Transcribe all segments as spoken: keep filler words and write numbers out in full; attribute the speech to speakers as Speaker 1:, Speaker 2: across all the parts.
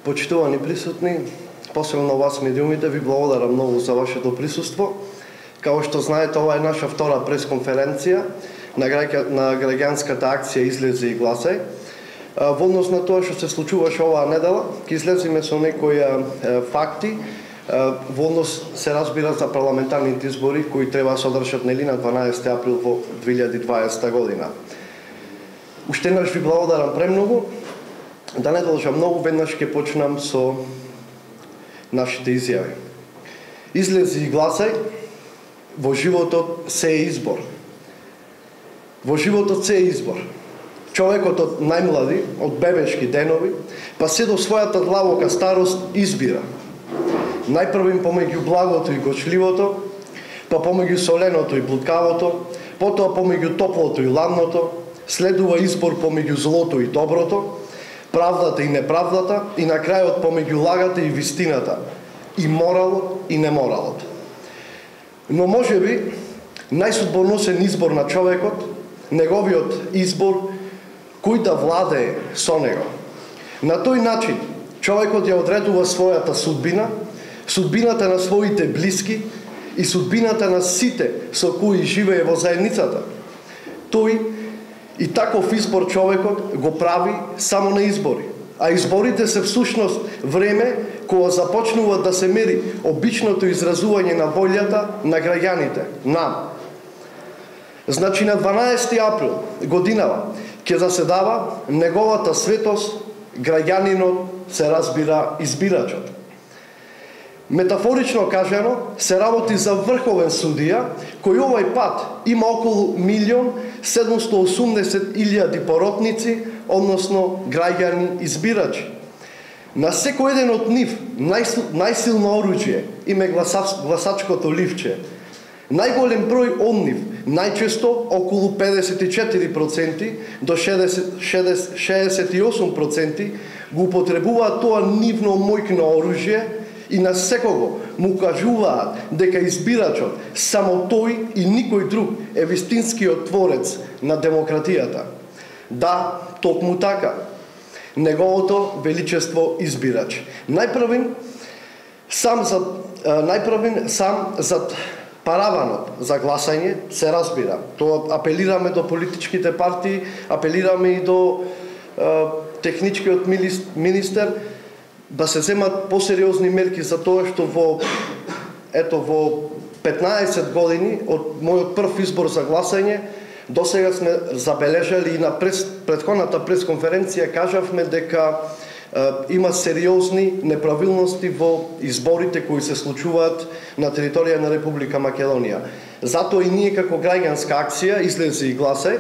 Speaker 1: Почитувани присутни, посебно вас медиумите, ви благодарам многу за вашето присуство. Као што знаете, ова е наша втора пресконференција на, граѓа, на граѓанската акција Излези и гласај. Во однос на тоа што се случуваше оваа недела, ќе излеземе со некои факти. Во однос се разбира за парламентарните избори кои треба да се одржат нели на дванаесети април во две илјади и дваесета година. Уште еднаш ви благодарам премногу. Да не должам многу, веднаш ќе почнам со нашите изјави. Излези и гласај. Во животот се е избор. Во животот се е избор. Човекот од најмлади, од бебешки денови, па се до својата длабока старост избира. Најпрво помеѓу благото и гочливото, па помеѓу соленото и блудкавото, потоа помеѓу топлото и ладното, следува избор помеѓу злото и доброто, правдата и неправдата и на крајот помеѓу лагата и вистината, и моралот и неморалот. Но можеби најсудбоносен избор на човекот, неговиот избор, кој да владее со него. На тој начин човекот ја одредува својата судбина, судбината на своите блиски и судбината на сите со кои живее во заедницата. Тој и таков избор човекот го прави само на избори. А изборите се всушност време кога започнува да се мери обичното изразување на волјата на граѓаните, нам. Значи на дванаесети април годинава ќе заседава неговата светост, граѓанинот се разбира избирачот. Метафорично кажано, се работи за врховен судија, кој овај пат има околу милион седумстотини и осумдесет илјади поротници, односно граѓани избирачи. На секој еден од нив најсилно оружје име гласачкото ливче. Најголем број од нив, најчесто околу педесет и четири проценти до шеесет и осум проценти, го употребуваат тоа нивно мојкно оружје и на секого му кажуваат дека избирачот само тој и никој друг е вистинскиот творец на демократијата. Да, токму така. Неговото величество избирач. Најпрвен сам за најпрвен сам за параванот за гласање се разбира. Тоа апелираме до политичките партии, апелираме и до е, техничкиот министер да се земат посериозни мерки за тоа што во ето во петнаесет години од мојот прв избор за гласање досега сме забележали и на прес, претходната пресконференција кажавме дека е, има сериозни неправилности во изборите кои се случуваат на територија на Република Македонија. Затоа и ние како граѓанска акција Излези и гласај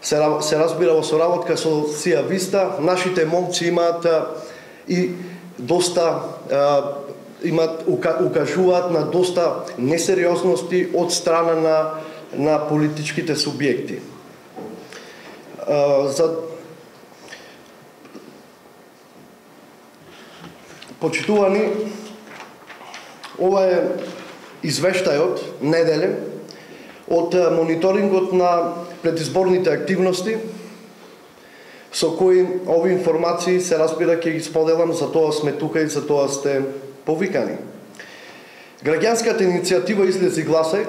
Speaker 1: се, се разбира во соработка со Сија Виста, нашите момци имаат и доста е, имат укажуваат на доста несериозности од страна на на политичките субјекти. Uh, за почитувани, ова е извештајот неделен од мониторингот на предизборните активности со кои овие информации се разбира ќе ги споделам, за тоа сме тука и за тоа сте повикани. Граѓанската иницијатива Излези и гласај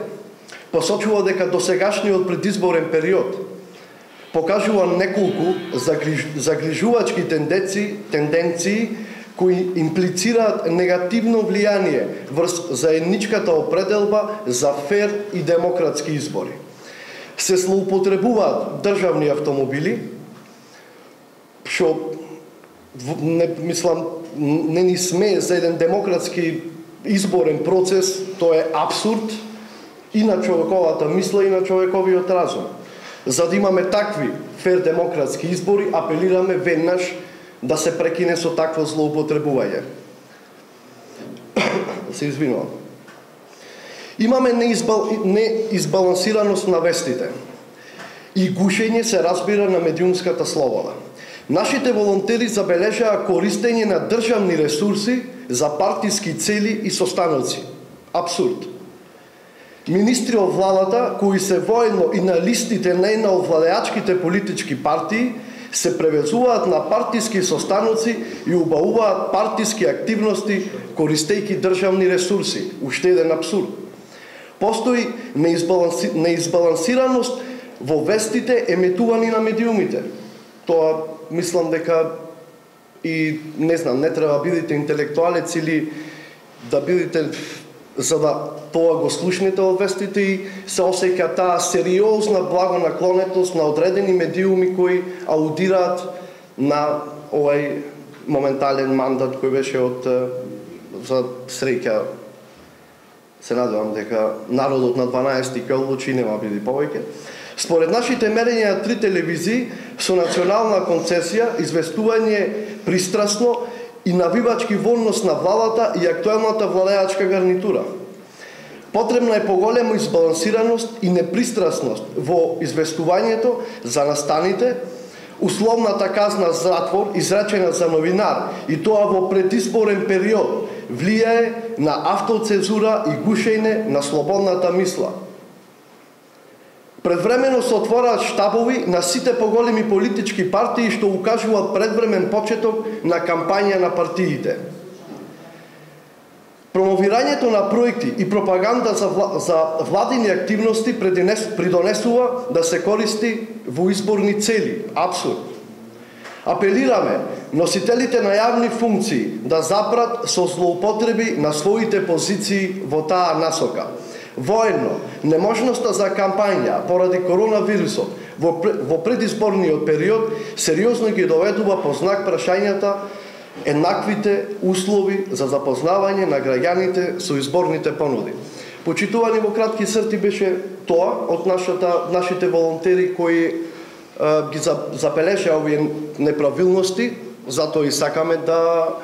Speaker 1: посочува дека досегашниот предизборен период покажува неколку загрижувачки тенденции, тенденции кои имплицираат негативно влијание врз заедничката определба за фер и демократски избори. Се злоупотребуваат државни автомобили, што не мислам не ни смее за еден демократски изборен процес, тоа е апсурд и на човековата мисла и на човековиот разум. За да имаме такви фер демократски избори, апелираме веднаш да се прекине со такво злоупотребување. Се извинувам. Имаме неизбал... неизбалансираност на вестите и гушење се разбира на медиумската слобода. Нашите волонтери забележаа користење на државни ресурси за партиски цели и состаноци. Абсурд. Министри од владата, кои се воедно и на листите на една од владеачките политички партии, се превезуваат на партиски состаноци и убавуваат партиски активности користејќи државни ресурси. Уште еден абсурд. Постои неизбаланси... неизбалансираност во вестите емитувани на медиумите. Тоа мислам дека и не знам, не треба да бидете интелектуалец или да бидете за да тоа го слушнете од вестите и се осеќа таа сериозна благонаклонетост на одредени медиуми кои аудираат на овај моментален мандат кој беше од за среќа. Се надевам дека народот на дванаесети ќе одлучи, нема биде повеќе. Според нашите мерења на три телевизии со национална концесија, известување пристрасно и навивачки во однос на владата и актуелната владеачка гарнитура. Потребна е поголема избалансираност и непристрасност во известувањето за настаните, условната казна затвор изречена за новинар и тоа во предизборен период влијае на автоцензура и гушење на слободната мисла. Предвремено се отвораат штабови на сите поголеми политички партии што укажуваат предвремен почеток на кампања на партиите. Промовирањето на проекти и пропаганда за, вла... за владини активности придонесува да се користи во изборни цели. Абсурд. Апелираме носителите на јавни функции да запрат со злоупотреби на своите позиции во таа насока. Воедно, неможноста за кампања поради коронавирусот во, во предизборниот период сериозно ги доведува по знак прашањата еднаквите услови за запознавање на граѓаните со изборните понуди. Почитувани во кратки црти беше тоа од нашата, нашите волонтери кои е, ги забележаа овие неправилности, затоа и сакаме да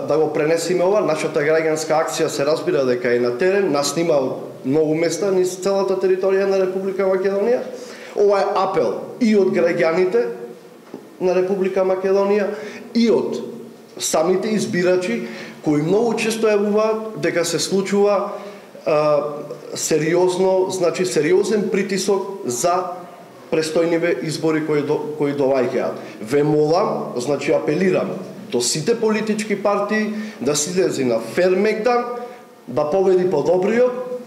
Speaker 1: да го пренесеме ова. Нашата граѓанска акција се разбира дека е на терен, нас снима многу места низ целата територија на Република Македонија. Ова е апел и од граѓаните на Република Македонија и од самите избирачи кои многу често јавуваат дека се случува а, сериозно, значи сериозен притисок за престојниве избори кои до, кои доваѓаат. Ве молам, значи апелирам до сите политички партии да се излези на фер мегдан, да победи подобриот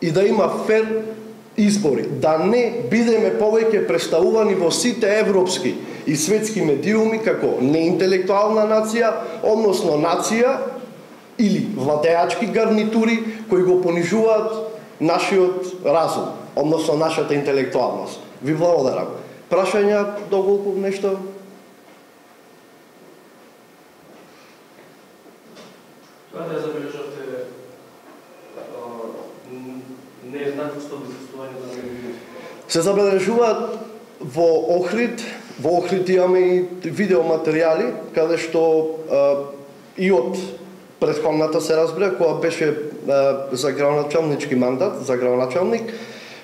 Speaker 1: и да има фер избори. Да не бидеме повеќе представувани во сите европски и светски медиуми како неинтелектуална нација, односно нација или владеачки гарнитури кои го понижуваат нашиот разум, односно нашата интелектуалност. Ви благодарам. Прашања, доколку нешто?
Speaker 2: Тоа да забележавте нееднаквост од известувањето на медиумите?
Speaker 1: Се забележуваат во Охрид, во Охрид имаме и видеоматеријали, каде што а, и од претходната се разбира, која беше а, за градоначалнички мандат, за градоначалник,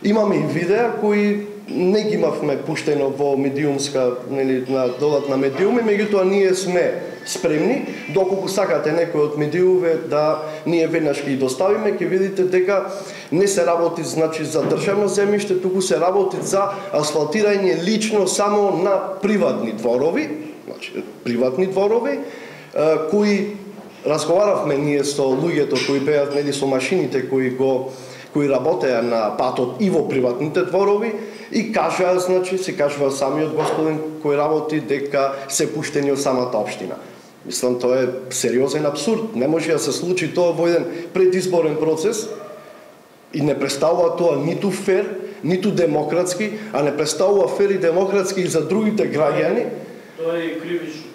Speaker 1: имаме и видеа кои не ги имавме пуштено во медиумска, нели, на додатна медиуми, меѓутоа ние сме спремни, доколку сакате некој од медиумите да ние веднаш ги доставиме, ќе видите дека не се работи значи за државно земјиште, туку се работи за асфалтирање лично само на приватни дворови, значи приватни дворови, кои разговаравме ние со луѓето кои беа нели со машините кои го кои работеа на патот и во приватните дворови и кажаа, значи се кажува самиот господин кој работи дека се пуштени од самата општина. Мислам, тоа е сериозен абсурд. Не може да се случи тоа во еден предизборен процес и не представува тоа ниту фер, ниту демократски, а не представува фер и демократски и за другите граѓани.
Speaker 2: Тоа е кривично.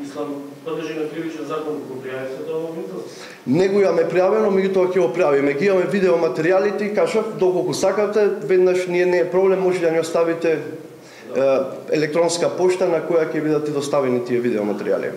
Speaker 2: Мислам, подлежи на кривичен закон кога пријавите тоа во Винтос?
Speaker 1: Не го имаме пријавено, меѓутоа ќе го пријавиме. Ги имаме видеоматеријалите и кажав, доколку сакате, веднаш ние не е проблем, може да ни оставите да. електронска пошта на која ќе бидат доставени тие видеоматеријали.